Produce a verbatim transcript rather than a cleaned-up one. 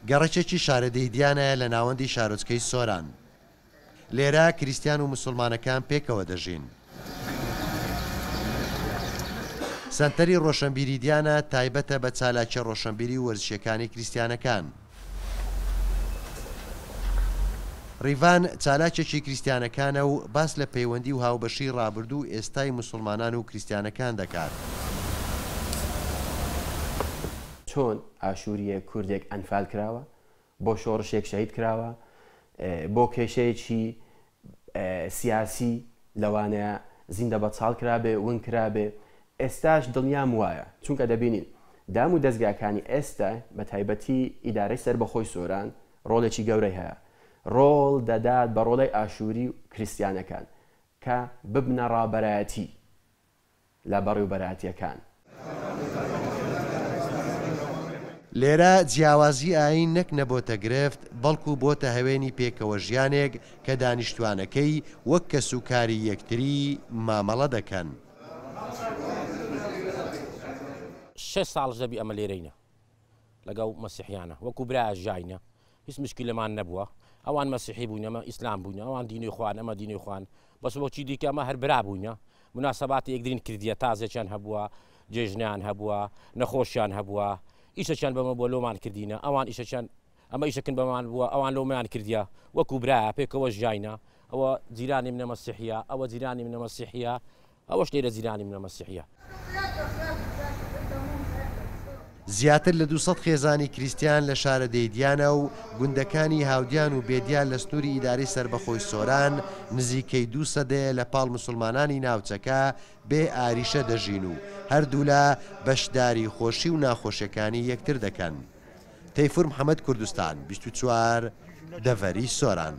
گەڕەکێکی شارەدێی دیانایە لە ناوەندی شارۆچکەی سۆران. لێرە کریستیان و موسڵمانەکان پێکەوە دەژین. سەنتەری ڕۆشنبیری دیانە تایبەتە بە چالاکیە ڕۆشنبیری و وەرزشیەکانی کریستیانەکان. ڕیڤان چالاکێکی کریستیانەکانە و باس لە پەیوەندی و هاوبەشی ڕابردوو و ئێستای موسڵمانان و کریستیانەکان دەکات. چۆن ئاشوورییەک کوردێک ئەنفال کراوە، بۆ شۆڕشێک شەهید کراوە، بۆ کێشەیەکی سیاسی لەوانەیە زیندە بەچاڵ کرابێ، ون کرابێ، ئێستاش دڵنیام وایە، چونکە دەبینین دام و دەزگاکانی ئێستا بە تایبەتی ئیدارەی سەربەخۆی سۆران ڕۆڵێکی گەورەی هەیە، ڕۆڵ دەدات بە ڕۆڵی ئاشووری و کریستیانەکان کە ببنە ڕابەرایەتی لە بەڕێوبەرایەتیەکان. لێرە جیاوازی ئایین نەک نەبۆتە گرفت، بەڵکو بۆتە هەوێنی پێکەوە ژیانێک کە دانیشتوانەکەی وەک کەسوکاری یەکتری مامەڵە دەکەن. شەش ساڵش دەبی ئەمە لێرەینە لەگەڵ مەسیحیانە، وەکو برایە ژیاینە، هیچ مشکلەمان نەبووە. ئەوان مەسیحی بوون، ئەمە ئیسلام بوون، ئەوان دینی خوان، ئەمە دینی خوان، بەس بۆچی دیکە ئەمە هەر برا بووینە. مناسباتی یەکدرین کردیە، تازێکیان هەبووە، جێژنیان هەبووە، نەخۆشیان هەبووە، ئیشەکیان بەمە بووە لۆمان کردینە، ئەوان ئیشەکیان ئەمە ئیشەکن بەمان بووە، ئەوان لۆمیان کردیە، وەکو برایە پێکەوە ژیاینە. ئەوە جیرانی منە مەسیحیە، ئەوە جیرانی منە مەسیحیە، ئەوەش لێرە جیرانی منە مەسیحیە. زیاتر لە دووسەد خێزانی کریستیان لە شارەدێی دیانە و گوندەکانی هاودیان و بێدیان لە سنووری ئیدارەی سەربەخۆی سۆران نزیکەی دوو سەدەیە لە پاڵ مسلمانانی ناوچەکە بێ ئاریشە دەژین و هەردوولا بەشداری خۆشی و ناخۆشیەکانی یەکتر دەکەن. تەیفور محەممەد، کوردستان بیست و چوار، دەڤەری سۆران.